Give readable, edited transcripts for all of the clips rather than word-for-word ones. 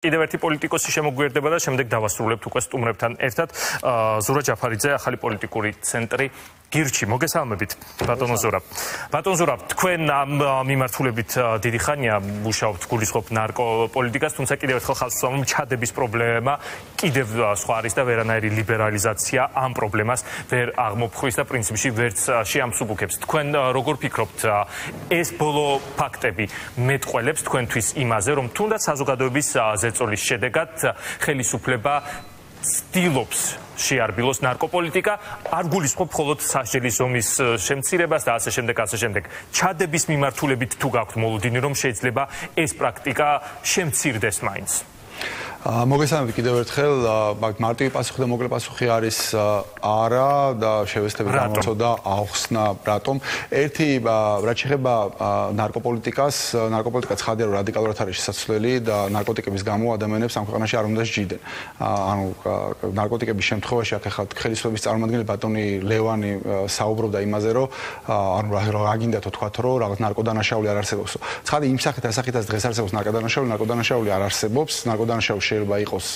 კიდევ ერთი პოლიტიკოსი შემოგვიერთდება და შემდეგ დავასრულებთ უკვე სტუმრებთან ერთად. ზურაბ ჯაფარიძე, ახალი პოლიტიკური ცენტრი გირჩი. მოგესალმებით, ბატონო ზურაბ. ბატონო ზურაბ, თქვენ ამ მიმართულებით დიდი ხანია მუშაობთ, გულისხმობთ ნარკოპოლიტიკას, თუმცა კიდევ ერთხელ ხალხს ვსვამობ, ჩადების პრობლემა კიდევ სხვა არის და ვერანაირი ლიბერალიზაცია ამ პრობლემას ვერ აღმოფხვის და პრინციპში ვერც შეამსუბუქებს. თქვენ როგორ ფიქრობთ, ეს ბოლო ფაქტები მეტყველებს თქვენთვის იმაზე, რომ თუნდაც საზოგადოების ზეწოლის შედეგად ხელისუფლება ცდილობს შეარბილოს ნარკოპოლიტიკა, არ გულისხმობ მხოლოდ სასჯელის ზომის შემცირებას და ასე შემდეგ. ჩადების მიმართულებით თუ გაქვთ მოლოდინი, რომ შეიძლება ეს პრაქტიკა შემცირდეს მაინც? მოგესალმებით კიდევ ერთხელ, მარტივი პასუხი და მოკლე პასუხი არის არა და შევეცდები გამოცოდა ახსნა რატომ. ერთი რაც შეეხება ნარკოპოლიტიკას, ნარკოპოლიტიკა ცხადია რომ რადიკალურად არის შესაძლებელი და ნარკოტიკების გამო ადამიანებს ამ ქვეყანაში არ უნდა სჯიდნენ. ანუ ნარკოტიკების შემთხვევაში აქ ახლა ხელისუფლების წარმომადგენელი ბატონი ლევანი საუბრობდა იმაზე, რომ ანუ რა გინდა თქვათ, რომ რაღაც ნარკოდანაშაული არ არსებობს. ცხადია იმ სახით ასახითაც დღეს არსებობს ნარკოდანაშაული არ არსებობს. ნარკოდანაშაული შეიძლება იყოს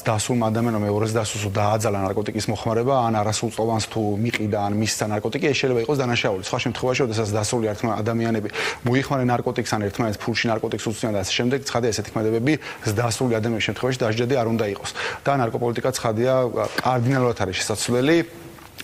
დასულმა ადამიანმა მეორეს დასულს დააძალა ნარკოტიკის მოხმარება, ან არასრულწლოვანს თუ მიყიდა, ან მისცა ნარკოტიკი, ეს შეიძლება იყოს დანაშაული. სხვა შემთხვევაში, როდესაც დასული ადამიანები მოიხმარენ ნარკოტიკს, ან ერთმანეთს ფულში ნარკოტიკს უწვდიან და ასე შემდეგ, ცხადია ესეთი ქმედებები დასული ადამიანების შემთხვევაში დასჯადი არ უნდა იყოს. და ნარკოპოლიტიკა ცხადია კარდინალურად არის შესაძლებელი.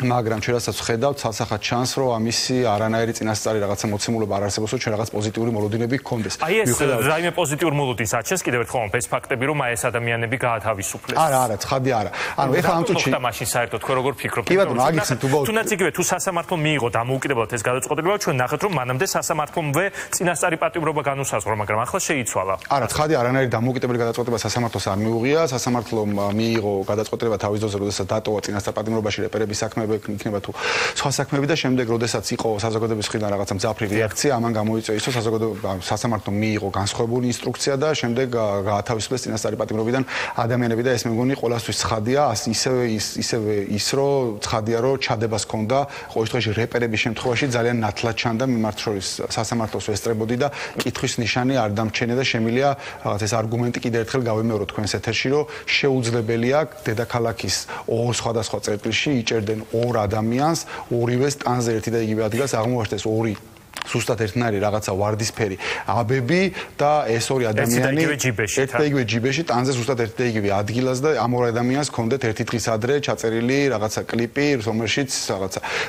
მაგრამ ჩვენ რასაც ვხედავთ, ცალსახად ჩანს, რომ ამისი არანაირი წინასწარი რაღაცა მოცემულობა არ არსებობს, რომ ჩვენ რაღაც პოზიტიური მოლოდინები გქონდეს. აი ეს რაიმე პოზიტიური მოლოდინს აჩენს კიდევ ერთხელ ეს ფაქტები, რომ აი ეს ადამიანები გაათავისუფლეს. არა, ცხადია არა. ანუ ეხლა ამ წუთში მოხდა მაშინ საერთოდ თქვენ როგორ ფიქრობთ? კი ბატონო, აგიხსნით უბრალოდ. თუნდაც იგივე თუ სასამართლომ მიიღო დამოუკიდებლად ეს გადაწყვეტილება, ჩვენ ნახეთ, რომ მანამდე სასამართლომვე წინასწარი პატიმრობა განუსაზღვრო, მაგრამ ახლა შეიცვალა. არა, ცხადია არანაირი დამოუკიდებელი გადაწყვეტილება სასამართლოს არ მიუღია. სასამართლომ მიიღო გადაწყვეტილება თავის ძოზე, როდესაც დატოვა წინასწარ პატიმრობაში რეპერების საქმეები იქნება თუ სხვა საქმეები და შემდეგ როდესაც იყო საზოგადოების მხრიდან რაღაცა მძაფრი რეაქცია, ამან გამოიწვია ის, რომ სასამართლომ მიიღო განსხვავებული ინსტრუქცია და შემდეგ გაათავისუფლეს წინასწარი პატიმრობიდან ადამიანები და ეს მე მგონი ყველასთვის ცხადია, ისევე ის, რომ ცხადია, რომ ჩადებას ჰქონდა ყოველ შემთხვევაში რეპერების შემთხვევაში ძალიან ნათლად ჩანდა მიმართ შორის სასამართლოს ესწრებოდი და კითხვის ნიშანი არ დამჩენია და შემიძლია რაღაც ეს არგუმენტი კიდევ ერთხელ გავიმეოროთ თქვენს ეთერში, რომ შეუძლებელია დედაქალაქის ორ სხვადასხვა წერტილში იჭერდნენ ორ ადამიანს, ორივე სტანზე ერთი და იგივე ადგილას აღმოაჩნდეს ორი ზუსტად ერთნაირი რაღაცა ვარდისფერი აბები და ეს ორი ადამიანი ერთ და იგივე ჯიბეში ტანზე ზუსტად ერთ და იგივე ადგილას და ამ ორ ადამიანს ჰქონდათ ერთი დღის ადრე ჩაწერილი რაღაცა კლიპი, რომელშიც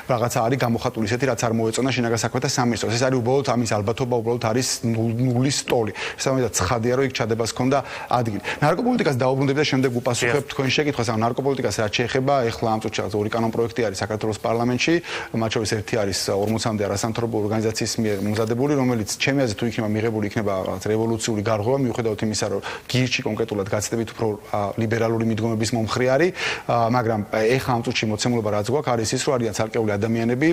რაღაცა არის გამოხატული ისეთი, რაც არ მოეწონა შინაგან საქმეთა სამინისტროს. ეს არის უბრალოდ ამის ალბათობა, უბრალოდ არის ნულის სტოლი. სამედად ცხადია, რომ იქ ჩადებას ჰქონდა ადგილი. ნარკოპოლიტიკას დაუბრუნდები და შემდეგ უპასუხებ თქვენ შეკითხვას, ანუ ნარკოპოლიტიკას რაც შეეხება, ეხლა ამ წუთში ორი კანონპროექტი არის საქართველოს პარლამენტში, მათ შორის ერთი არის 40-მდე არასამთავრობო ორგანიზაციის მიერ მომზადებული, რომელიც ჩემი აზრით თუ იქნება მიღებული, იქნება რაღაც რევოლუციური გარღვევა, მიუხედავად იმისა, რომ გირჩი კონკრეტულად გაცდებით უფრო ლიბერალური მიდგომების მომხრე არის, მაგრამ ეხლა ამ წუთში მოცემულობა რაც გვაქვს, არის ის, რომ არიან ცალკეული ადამიანები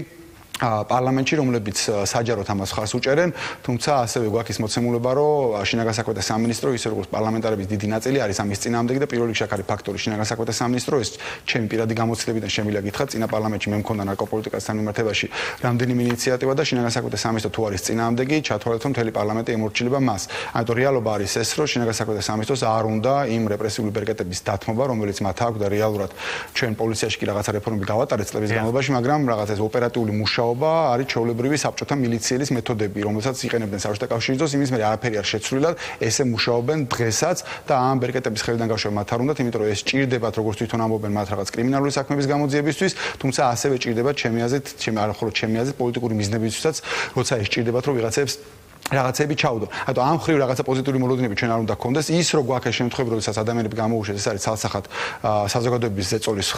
პარლამენტში, რომლებიც საჯაროდ ამას ხარს უჭერენ, თუმცა ასევე გვაქვს ის მოცემულობა, რომ შინაგან საქმეთა სამინისტრო, ისე როგორც პარლამენტარების დიდი ნაწილი არის ამის წინააღმდეგი და პირველ რიგში აქ არის ფაქტორი შინაგან საქმეთა სამინისტრო, ეს ჩემი პირადი გამოცდილებიდან შემიძლია გითხრათ, წინა პარლამენტში მე მქონდა ნარკოპოლიტიკასთან მიმართებაში რამდენიმე ინიციატივა და შინაგან საქმეთა სამინისტრო თუ არის წინააღმდეგი, ჩათვალეთ, რომ მთელი პარლამენტი ემორჩილება მას. ამიტომ რეალობა არის ეს, რომ შინაგან საქმეთა სამინისტროს არ უნდა იმ რეპრესიული ბერკეტების დათმობა, რომელიც მათ აქვს და რეალურად ჩვენ პოლიციაში კი რაღაცა რეფორმები გავატარეთ წლების განმავლობაში, მაგრამ რაღაც ეს ოპერატიული მუშაობა არის ჩვეულებრივი საბჭოთა მილიციელის მეთოდები, რომელსაც იყენებდნენ საბჭოთა კავშირის დროს, იმის მერე არაფერი არ შეცვლილად, ესე მუშაობენ დღესაც და ამ ბერკეტების ხელიდან გავშვა მათ არ უნდათ, იმიტომ რომ ეს ჭირდებათ, როგორც თვითონ ამბობენ, მათ რაღაც კრიმინალური საქმეების გამოძიებისთვის, თუმცა ასევე ჭირდებათ ჩემი აზრით, პოლიტიკური მიზნებისთვისაც, როცა ეს ჭირდებათ, რომ ვიღაცებს რაღაცები ჩაუდო. ანუ ამ ხრივ რაღაცა პოზიტიური მოლოდინები ჩვენ არ უნდა გქონდეს. ის რო გვაქვს შემთხვევები, როდესაც ადამიანები გამოუშვეს, ეს არის ცალსახად საზოგადოების ზეწოლის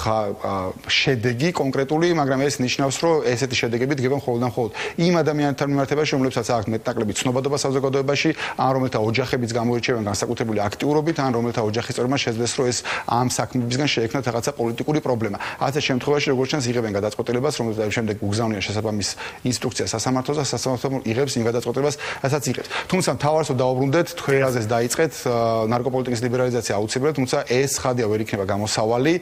შედეგი კონკრეტული, მაგრამ ეს ნიშნავს, რომ ესეთი შედეგები დგება მხოლოდ და მხოლოდ იმ ადამიანთან მიმართებაში, რომლებსაც აქვს მეტნაკლები ცნობადობა საზოგადოებაში, ან რომელთა ოჯახებიც გამოირჩევიან განსაკუთრებული აქტიურობით, ან რომელთა ოჯახის წევრებმა შეძლეს, რომ ეს ამ საქმებისგან შეექმნათ რაღაცა პოლიტიკური პრობლემა. ასეთ შემთხვევაში როგორც ჩანს იღებენ გადაწყვეტილებას, რომელსაც შემდეგ უგზავნიან შესაბამის ინსტრუქცია სასამართლოს და სასამართლო იღებს იმ გადაწყვეტილებას რასაც იღებს. თუმცა მთავარს დავუბრუნდეთ, თქვენ რაზეც დაიწყეთ, ნარკოპოლიტიკის ლიბერალიზაცია აუცილებლად, თუმცა ეს ხადია ვერ იქნება გამოსავალი.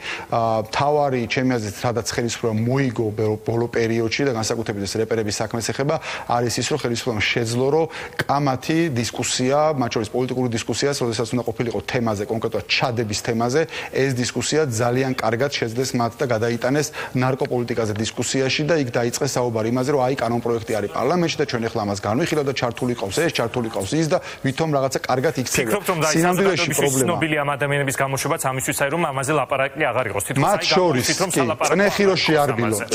მთავარი ჩემი აზრით, სადაც ხელისუფლება მოიგო ბოლო პერიოდში და განსაკუთრებით ეს რეპერების საქმეს ეხება, არის ის, რომ ხელისუფლებამ შეძლო, რომ კამათი დისკუსია, მათ შორის პოლიტიკური დისკუსიას, როდესაც უნდა ყოფილიყო თემაზე, კონკრეტულად ჩადების თემაზე, ეს დისკუსია ძალიან კარგად შეძლეს მათ და გადაიტანეს ნარკოპოლიტიკაზე დისკუსიაში და იქ დაიწყეს საუბარი იმაზე, რომ აი კანონპროექტი არის პარლამენტში და ჩვენ ახლა ამას განვიხილავთ და ჩართული ყავს ეს, ჩართული ყავს ის და ვითომ რაღაცა კარგად იქცევა. სინამდვილეში პრობლემა. ცნობილი ამ ადამიანების გამოშვებაც ამისთვის არის, რომ ამაზე ლაპარაკი აღარ იყოს. მათ შორის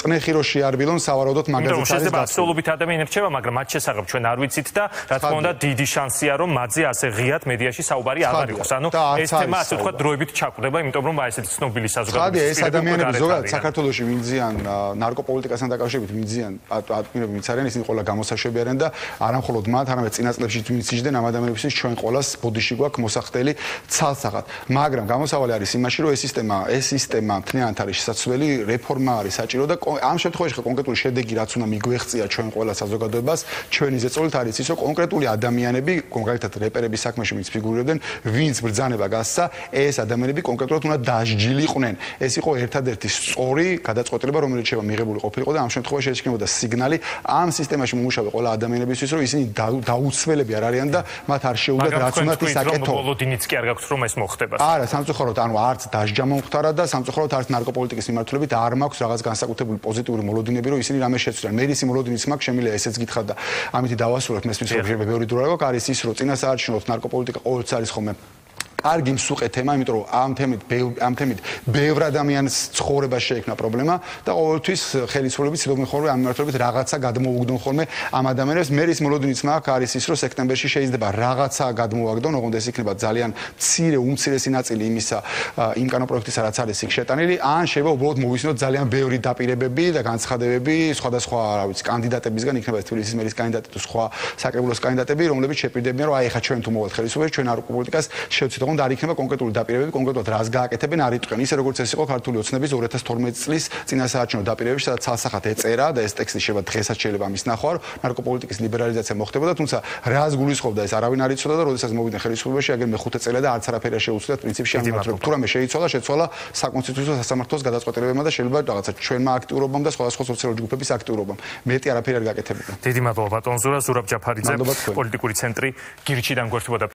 წნეხიროში არ ბილონ სავარაუდოდ მაგაზეც არის და აბსოლუტურად ადამიანებს რჩება, მაგრამ მათ შესახებ ჩვენ არ ვიცით და რა თქმა უნდა დიდი შანსია, რომ მათზე ასე ღიად მედიაში საუბარი აღარ იყოს. ანუ ეს თემა ასე ვთქვათ დროებით ჩაკვდება, იმიტომ რომ ესეთი ცნობილი საზოგადოების ეს ადამიანები ზოგადად საქართველოში ვინძიან ნარკოპოლიტიკასთან დაკავშირებით ვინძიან პატიმრები ვინც არიან, ისინი ყველა გამოსაშვები არიან და არა მხოლოდ მათ, არამედ წინა წლებში ვინც იჯდნენ ამ ადამიანებისთვის ჩვენ ყველას ბოდიში გვაქვს მოსახდელი ცალსაღად. მაგრამ გამოსავალი არის იმაში, რომ ეს სისტემა მთლიანად არის შესაძლებელი, რეფორმა არის საჭირო და ამ შემთხვევაში კონკრეტული შედეგი რაც უნდა მიგვეღწია ჩვენ ყველა საზოგადოებას, ჩვენი ზეწოლით არის ის, რომ კონკრეტული ადამიანები, კონკრეტად რეპერების საქმეში ვინც ფიგურირებდნენ, ვინც ბრძანება გასცა, ეს ადამიანები კონკრეტულად უნდა დასჯილიყვნენ. ეს იყო ერთადერთი სწორი გადაწყვეტილება, რომელიც შეიძლება მიღებული ყოფილიყო და ამ შემთხვევაში ეს იქნებოდა სიგნალი ამ სისტემაში მომუშავე ყველა ადამიანებისთვის, რომ ისინი დაუცველები არ არიან და მათ არ შეუძლიათ რაც უნდა ისაკეთო. ბოლოდინიც კი არ გაქვს რომ ეს მოხდება. არა, სამწუხაროდ, ანუ არც დასჯა მომხდარა და სამწუხაროდ არც ნარკოპოლიტიკის მიმართულებით არ მაქვს რაღაც განსაკუთრებული პოზიტიური მოლოდინები, რომ ისინი რამე შეცვლიან. მე ისი მოლოდინიც მაქვს, შემიძლია ესეც გითხრათ და ამითი დავასრულებ, მესმის რომ შეიძლება ბევრი დრო არ გაქვს, არის ის, რომ წინასაარჩევნოდ ნარკოპოლიტიკა ყოველთვის არის ხოლმე კარგი მსუყე თემა, იმიტომ რომ ამ თემით ბევრ ადამიანს ცხოვრებაში შეექმნა პრობლემა და ყოველთვის ხელისუფლების ცდილობენ ხოლმე ამ მიმართულებით რაღაცა გადმოუგდონ ხოლმე ამ ადამიანებს. მე ის მოლოდინიც მაქვს, არის ის, რომ სექტემბერში შეიძლება რაღაცა გადმოაგდონ, ოღონდ ეს იქნება ძალიან მცირე, უმცირესი ნაწილი იმისა, იმ კანონპროექტისა, რაც არის იქ შეტანილი, ან შეიძლება უბრალოდ მოვისმინოთ ძალიან ბევრი დაპირებები და განცხადებები სხვადასხვა, რა ვიცი, კანდიდატებისგან, იქნება ეს თბილისის მერის კანდიდატი თუ სხვა საკრებულოს კანდიდატები, რომლებიც შეპირდებიან, რომ აი ახლა ჩვენ თუ მოვალთ ხელისუფლებას, ჩვენ ნარკოპოლიტიკას შევცვლით. და არ იქნება კონკრეტული დაპირებები, კონკრეტულად რას გააკეთებენ, არ იტყვიან. ისე როგორც ეს იყო ქართული ოცნების 2012 წლის წინასაარჩევნო დაპირებებში, სადაც ცალსახად ეწერა და ეს ტექსტი შეიძლება დღესაც შეიძლება ამის ნახვა, რომ ნარკოპოლიტიკის ლიბერალიზაცია მოხდებოდა, თუმცა რას გულისხმობდა ეს არავინ არ იცოდა და როდესაც მოვიდნენ ხელისუფლებაში, აგერ მე-5 წელი და არც არაფერი არ შეუცვლიათ პრინციპში ამ მიმართულებით. თუ რამე შეცვალა საკონსტიტუციო სასამართლოს გადაწყვეტილებებმა და შეიძლება რაღაცა ჩვენმა აქტიურობამ და სხვადასხვა სოციალური ჯგუფების აქტიურობამ. მეტი არაფერი არ გაკეთებულა. დიდი მადლობა ბატონ ზურაბ ჯაფარიძე, პოლიტიკური ცენტრი გირჩიდან გვერდებოდა.